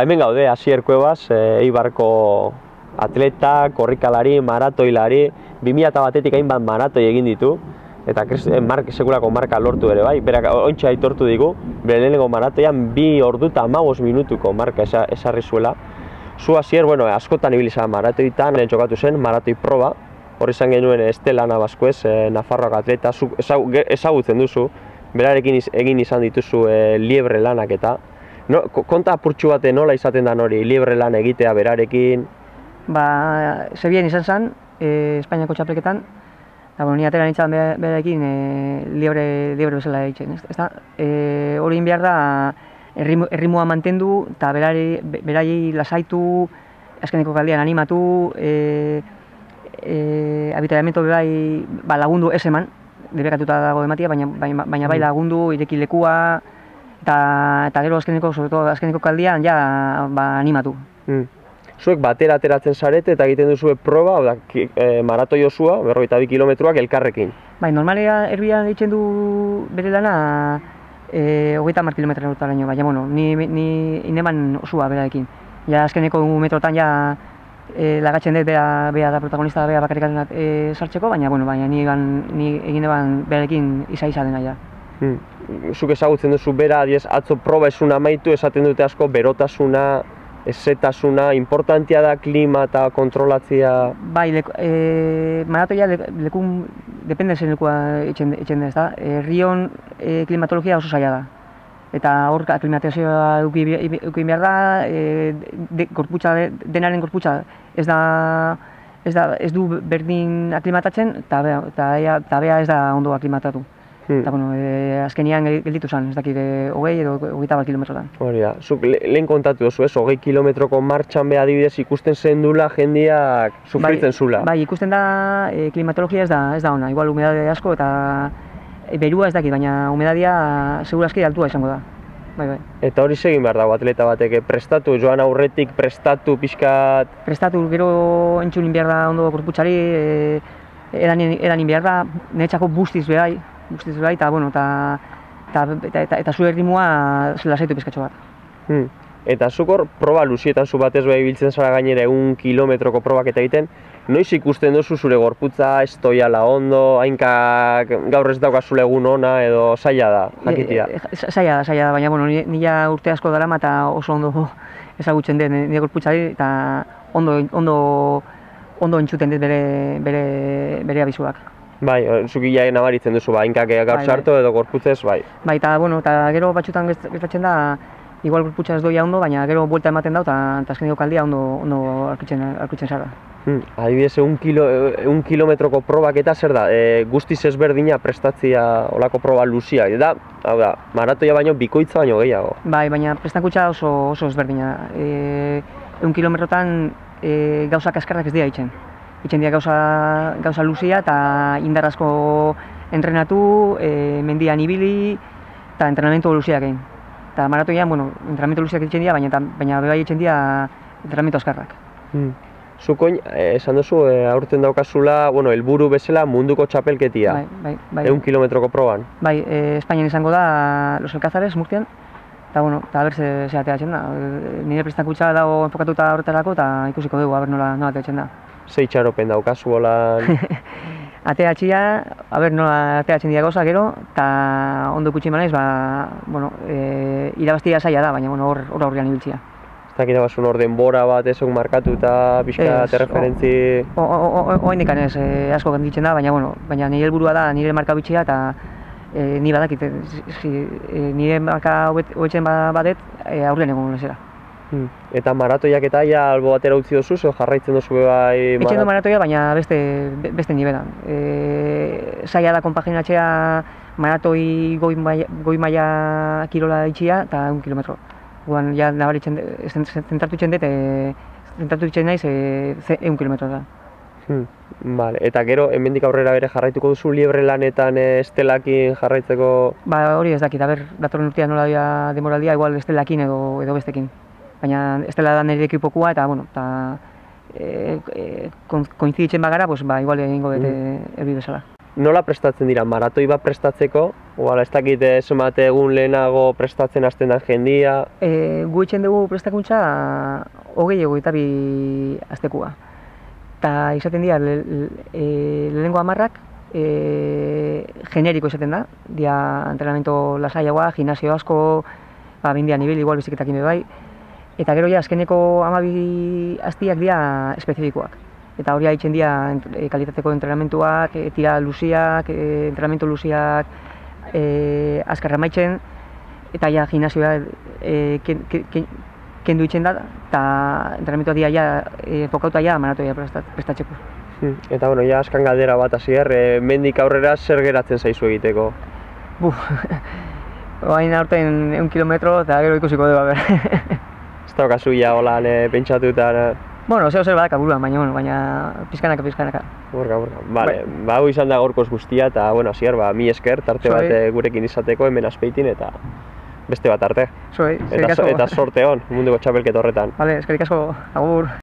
hemen gaude, Asier Cuevas, Eibarko atleta, korrikalari, maratoilari, 2001etik hainbat maratoi egin ditu, eta sekulako marka lortu ere bai, berak ontsa aitortu digu, bere lehenengo maratoian 2 ordu eta 15 minutuko marka esarri zuela. Zu Asier, askotan ibili zara maratoitan, txokatu zen, maratoi proba, hor izan genuen Estela Nabaskuez, Nafarroako atleta, ezagutzen duzu, berarekin egin izan dituzu liebre lanak eta. Konta apurtxu bate nola izaten da hori, liebre lan egitea berarekin? Zebian izan zen, Espainiako txapelketan, eta ni atera nintzen berarekin liebre bezala egiten. Hori behar da, erritmoa mantendu eta berari lasaitu, azkeneko kaldian animatu, abitaiamento berai lagundu ez eman, debekatuta dago ematia, baina bai lagundu, ireki lekua, eta gero azkeneko kaldian ja animatu. Zuek batera ateratzen zarete eta egiten duzu proba, maratoi osua, 42 kilometroak elkarrekin. Normalea erbian egiten du bere lana 30 kilometrotaraino, baina ni ineman osua berarekin. Ja azkeneko metrotan ja lagatzen dut bea da protagonista, bea bakarrik sartzeko, baina ni egin eban berarekin iza dena ja. Zuk ezagutzen duzu bera, atzo proba esuna amaitu, esaten dute asko berotasuna, ezetasuna, importantia da klima eta kontrolatzea? Bai, maratoia lekun, depende zen lekua etxen da, ezta? Rion klimatologia oso zaila da. Eta hor aklimatazioa eukin behar da, denaren gorputza ez du berdin aklimatatzen, eta bea ez da ondo aklimatatu. Azkenian gelditu zen, ez dakit 20 edo 21 kilometrotan. Hori da, zuk lehen kontatu duzu, 20 kilometroko martxan beha adibidez ikusten zendula jendeak sufritzen zula. Bai, ikusten da klimatologia ez da ona, igual humedade asko eta berua ez dakit, baina humedadia segurazki altua izango da. Eta hori segin behar dago atleta batek, prestatu, joan aurretik prestatu pixkat? Prestatu, gero entzunin behar da ondo gorputzari, edanin behar da, niretzako bustiz behai, eta zu erritmoa lasaitu pizkatxo bat. Eta zuk hor, proba luzietan zu batez beha ibiltzen zara gainera 1 kilometroko probak eta egiten, noiz ikusten duzu zure gorputza, ez toiala ondo, hainkak gaur ez daukazule egun ona edo zaila da, jakitia? Zaila da, baina nila urte asko darama eta oso ondo ezagutzen dut nire gorputzari eta ondo entzuten dut bere abizuak. Bai, zuk ia nabaritzen duzu, hainkak gaur sartu edo gorputzez, bai. Bai, eta gero batxutan gertatzen da, igual gorputza ez doia ondo, baina gero buelta ematen da eta azkeneko kaldia ondo arkitzen zara. Adibidez, 1 kilometroko probak eta zer da, guztiz ezberdina prestatzia olako proba luzia, eta hau da, maratoia baino bikoitza baino gehiago. Bai, baina prestakuntza oso ezberdina. 1 kilometrotan gauzak askarrak ez dira itzen. Itzen dira gauza luzia eta indar asko entrenatu, mendian ibili eta entrenamendu luziak egin. Eta maratoian, entrenamendu luziak itzen dira, baina bebai itzen dira entrenamendu askarrak. Zukoin, esan duzu, aurten daukazula, helburu bezala munduko txapelketia. Bai. 1 kilometroko proban. Bai, Espainian izango da Los Alcázares, Murcian, eta aber ze ateratzen da. Nire prestakuntza dago enfokatuta horretarako eta ikusiko dugu, aber nola ateratzen da. Ze itxaropen daukazu bolan? Ateratxia, nola ateratzen dira gauza gero, eta ondo ikutsi manaiz, irabaztia zaila da, baina hor aurrean ibiltzia. Ez dakit abazun hor denbora bat ezok markatu eta pixka referentzi... Oaindekan ez, asko ganditzen da, baina nire helburua da, nire marka bitxia eta ni badakit, nire marka hobetzen badet aurrean egon lezera. Eta maratoiak eta albo batera utzi dozu, edo jarraitzen dozu bai... Etxen du maratoia, baina beste nibelan. Zaila da konpaginatzea maratoi goi maila kirola itxia eta 1 kilometro. Guan, ja nabaritzen, zentratu itzen naiz 1 kilometro da. Eta gero, hemendik aurrera bere jarraituko duzu liebre lanetan estelakin jarraitzeko? Hori ez dakit, datorren urtean nola dira demoraldia, igual estelakin edo bestekin. Baina estela da nire ekipokua eta, koinziditzen bagara, igual egingo dut erbi bezala. nola prestatzen dira maratoi bat prestatzeko? Ez dakit zenbat egun lehenago prestatzen hasten da jendia? Gu itxen dugu prestakuntza 22 astekua. Eta izaten dira lehenengo 10 generiko izaten da, dia entrenamiento lasaiagoa, gimnasio asko, bindian ibil, igual biziketak bai, eta gero ja azkeneko 12 astiak dira espezifikoak. Eta hori haitzen dira kalitateko entrenamentuak, tira luziak, entrenamentu luziak azkarra maitzen, eta ja gimnasioa kendu itzen da, eta entrenamentua dira ja fokauta ja maratoia prestatzeko. Eta bueno, ja askan galdera bat hasier, mendik aurrera zer geratzen zaizu egiteko? Oain aurten 1 kilometro eta gero ikusiko dugu, Ez daukazu ja holan pentsatuta? Bueno, zer badaka buruan, baina pizkanaka. Borga. Vale, hau izan da gaurkoz guztia, eta bueno, hasier, mi esker, tarte bat gurekin izateko hemen Azpeitin, eta beste bat arte. Zuei, eskerrik asko. Eta sorte hon, munduko txapelketa horretan. Vale, eskerrik asko, agur.